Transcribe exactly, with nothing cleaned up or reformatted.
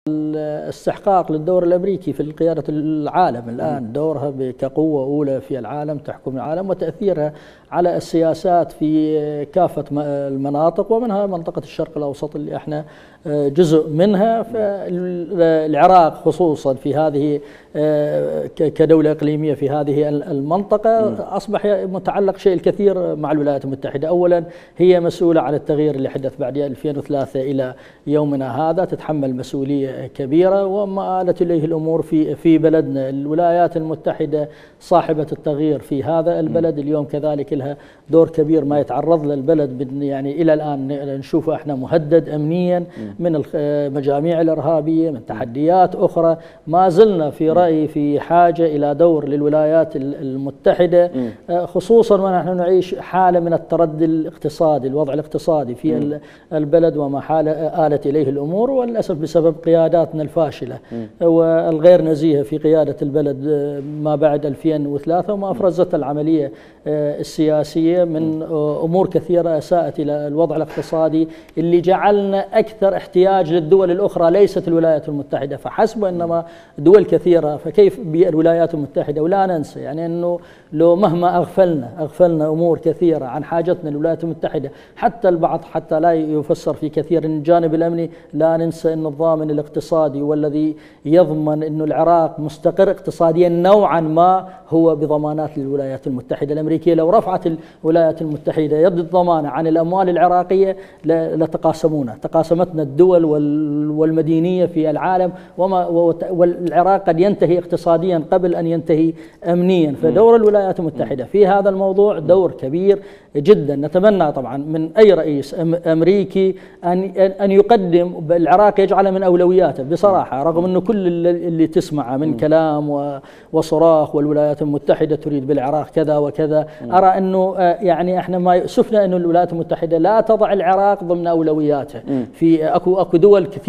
الاستحقاق للدور الامريكي في قياده العالم الان، دورها كقوه اولى في العالم تحكم العالم وتاثيرها على السياسات في كافه المناطق ومنها منطقه الشرق الاوسط اللي احنا جزء منها. فالعراق خصوصا في هذه كدوله اقليميه في هذه المنطقه اصبح متعلق شيء الكثير مع الولايات المتحده. اولا هي مسؤوله عن التغيير اللي حدث بعد ألفين وثلاثة الى يومنا هذا، تتحمل مسؤوليه كبيره وما آلت اليه الامور في في بلدنا. الولايات المتحده صاحبه التغيير في هذا البلد، اليوم كذلك لها دور كبير. ما يتعرض له البلد يعني الى الان نشوفه احنا مهدد امنيا من المجاميع الارهابيه، من تحديات اخرى. ما زلنا في رايي في حاجه الى دور للولايات المتحده، خصوصا ونحن نعيش حاله من التردي الاقتصادي، الوضع الاقتصادي في البلد وما حال آلت اليه الامور، وللاسف بسبب قياداتنا الفاشله والغير نزيهه في قياده البلد ما بعد ألفين وثلاثة، وما افرزت العمليه السياسيه من امور كثيره اساءت الى الوضع الاقتصادي اللي جعلنا اكثر احتياج للدول الاخرى، ليست الولايات المتحده فحسب وانما دول كثيره. فكيف بالولايات المتحده؟ ولا ننسى يعني انه لو مهما اغفلنا اغفلنا امور كثيره عن حاجتنا للولايات المتحده، حتى البعض حتى لا يفسر في كثير من الجانب الامني، لا ننسى ان الضامن الاقتصادي والذي يضمن انه العراق مستقر اقتصاديا نوعا ما هو بضمانات للولايات المتحده الامريكيه. لو رفعت الولايات المتحده يد الضمانه عن الاموال العراقيه لتقاسمونا، تقاسمتنا الدول والمدينيه في العالم، وما والعراق قد ينتهي اقتصاديا قبل ان ينتهي امنيا. فدور الولايات المتحده في هذا الموضوع دور كبير جدا. نتمنى طبعا من اي رئيس امريكي ان ان يقدم العراق، يجعله من اولوياته بصراحه، رغم انه كل اللي تسمعه من كلام وصراخ والولايات المتحده تريد بالعراق كذا وكذا. ارى انه يعني احنا ما يؤسفنا انه الولايات المتحده لا تضع العراق ضمن اولوياتها. في اكو اكو دول كثير